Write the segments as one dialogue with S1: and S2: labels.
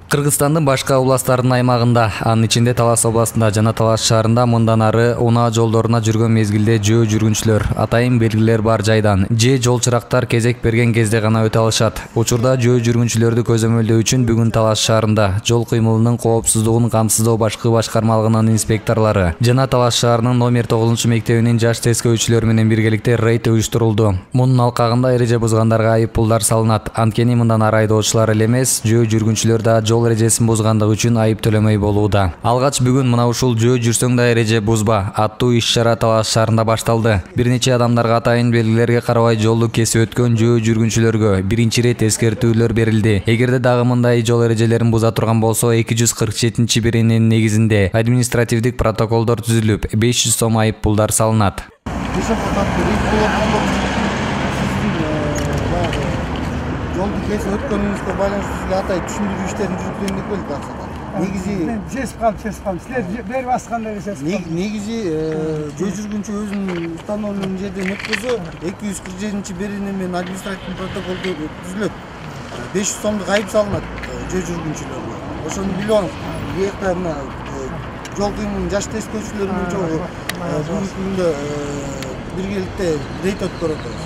S1: Кыргызстандын башка областтарынын аймагында, анын ичинде Талас областында жана Талас шаарында мындан ары унаа жолдоруна жүргөн мезгилде жөө жүргүнчүлөр атайын белгилер бар жайдан же жол чырактар кезек берген кезде гана өтө алышат. Учурда жөө жүргүнчүлөрдү көзөмөлдөө үчүн бүгүн Талас шаарында жол кыймылынын коопсуздугун камсыздоо башкы башкармалыгынын инспекторлору жана Талас шаарынын номер 9 мектебинин жаш тескөөчүлөрү менен биргеликте рейд уюштурулду. Мунун алкагында эреже бузгандарга айып пулдар салынат. Анткени мындан ары айдоочулар эле эмес, жөө жүргүнчүлөр да жол эрежесин бузгандыгы үчүн айып төлөмөй болууда. Алгач бүгүн мына ушул жөө жүрсөң да эреже бузба аттуу иш-чара Талас шаарында башталды. Бир нече адамдарга атайын белгилерге карабай жолду кесип өткөн жөө жүргүнчүлөргө биринчи ирет эскертүүлөр берилди. Эгерде дагы мындай жол эрежелерин буза турган болсо 247-биринин негизинде административдик протоколдор түзүлүп, 500 сом айып пулдар салынат.
S2: Жолду кесип өткөнүңүзгө байланыштуу сизге атай түшүндүрүү иштерин жүргүзөйүн деп келдик аксакал. Негизи
S3: сесип калдым. Силер берип аскандай сесип.
S2: Негизи жөө жүргүнчү өзүнүн установленген жерден өткөзө 247-бирини менен административдик протокол түзүлөт. 500 сомдук айып салынат жөө жүргүнчүлөргө. Ошону билип алыңыз. Бuyакта мына жол кыймылынын жаш тескөөчүлөрү менен чогуу бүгүнкү күндө биргеликте рейд өткөрүп атабыз.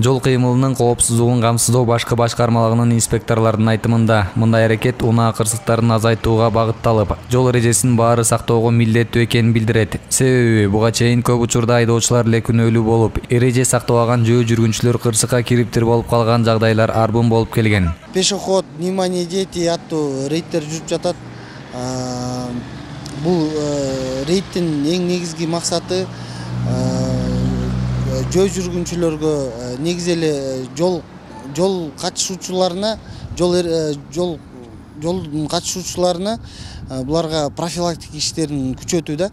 S1: Жол кыймылынын коопсуздугун камсыздоо башкы башкармалыгынын инспекторлорунун айтымында мындай аракет унаа кырсыктарын азайтууга багытталып, жол эрежесинин баары сактоого милдеттүү экенин билдирет. Себеби буга чейин көп учурда айдоочулар эле күнөөлүү болуп, эреже сактабаган жөө жүргүнчүлөр кырсыкка кириптир болуп калган жагдайлар арбын болуп келген.
S2: Пешеход, внимание дети аттуу рейдтер жүрүп жатат. Бул рейдтин эң негизги максаты жөө жүргүнчүлөргө негизи эле жол катышуучуларына жолдун катышуучуларына буларга профилактика иштерин күчөтүү да.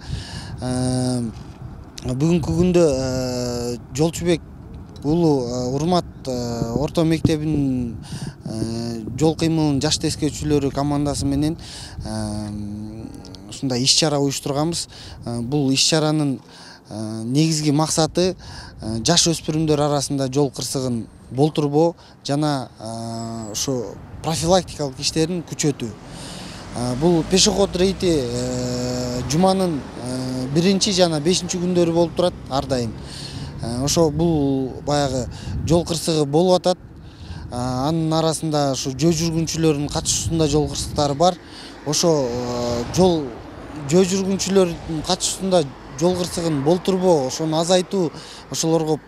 S2: Бүгүнкү күндө Жолчубек уулу Урмат орто мектебинин жол кыймылынын жаш тескөөчүлөрү командасы менен ушундай иш-чара уюштурганбыз. Бул иш-чаранын негизги максаты жаш өспүрүмдөр арасында жол кырсыгын болтурбоо жана ошо профилактикалык иштерин күчөтүү. Бул пешеход рейди жуманын 1 жана 5 күндөрү болуп турат ар дайым. Ошо бул баягы жол кырсыгы болуп атат. Анын арасында ушу жөө жүргүнчүлөрдүн катышуусунда жол кырсыктары бар. Ошо жөө жүргүнчүлөрдүн катышуусунда жол кырсыгын болтурбоо, ошону азайтуу, ошолорго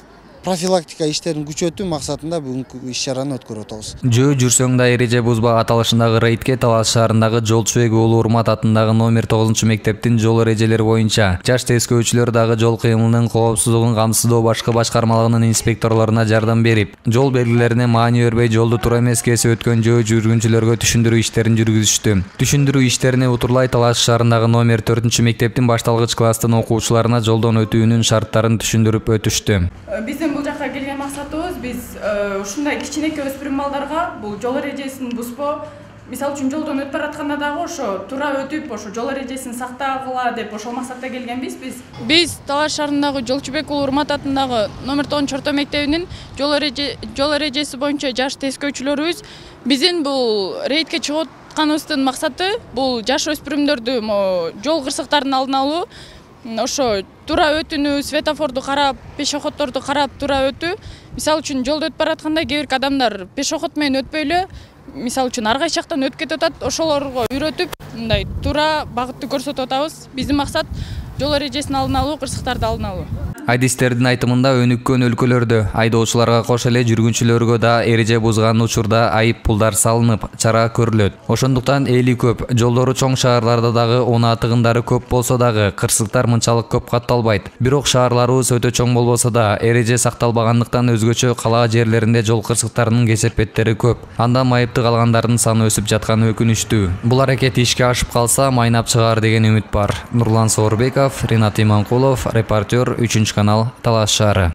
S2: профилактика иштерин күчөтүү максатында бүгүнкү иш-чараны өткөрүп атабыз.
S1: Жөө жүрсөң да эреже бузба аталышындагы рейдке Талас шаарындагы Жолчубек уулу Урмат атындагы номер 9 мектептин жол эрежелери боюнча жаш тескөөчүлөр дагы жол кыймылынын коопсуздугун камсыздоо башкы башкармалыгынын инспекторлоруна жардам берип, жол белгилерине маани бербей жолду туура эмес кесип өткөн жөө жүргүнчүлөргө түшүндүрүү иштерин жүргүзүштү. Түшүндүрүү иштерине утурлай Талас шаарындагы номер 4 мектептин башталгыч класстын окуучуларына жолдон өтүүнүн шарттарын түшүндүрүп өтүштү.
S4: Бул жакка келген максатыбыз биз ушундай кичинекей өспүрүм балдарга бул жол эрежесин бузбоо, мисалы үчүн жолдон өтүп баратканда дагы ошо туура өтүп, ошо жол эрежесин сактагыла деп ошол максатта келгенбиз биз. Биз Талас шаарындагы Жолчубек уулу Урмат атындагы номер 9 орто мектебинин жол эрежеси боюнча жаш тескөөчүлөрүбүз. Биздин бул рейдке чыгып атканыбыздын максаты бул жаш өспүрүмдөрдү жол кырсыктарын алдын алуу. Ошо туура өтүүнү, светофорду карап, пешеходдорду карап туура өтүү. Мисалы үчүн жолдо өтүп баратканда кээ бир адамдар пешеход менен өтпөй эле, мисалы үчүн ар кайсы жактан өтүп кетип атат. Ошолорго үйрөтүп, мындай туура багытты көрсөтүп атабыз. Биздин максат жол эрежесин алдын алуу, кырсыктарды алдын алуу.
S1: Адистердин айтымында өнүккөн өлкөлөрдө айдоочуларга кош эле жүргүнчүлөргө да эреже бузган учурда айып пулдар салынып, чара көрүлөт. Ошондуктан эли көп, жолдору чоң шаарларда дагы унаа тыгындары көп болсо дагы кырсыктар мынчалык көп катталбайт. Бирок шаарларыбыз өтө чоң болбосо да эреже сакталбагандыктан өзгөчө кала жерлеринде жол кырсыктарынын кесепеттери көп. Андан майыптык алгандардын саны өсүп жатканы өкүнүчтүү. Бул аракет ишке ашып калса, майнап чыгаар деген үмүт бар. Нурлан Соорбеков, Ринат Иманкулов, репортер, 3 канал, Талас шаары.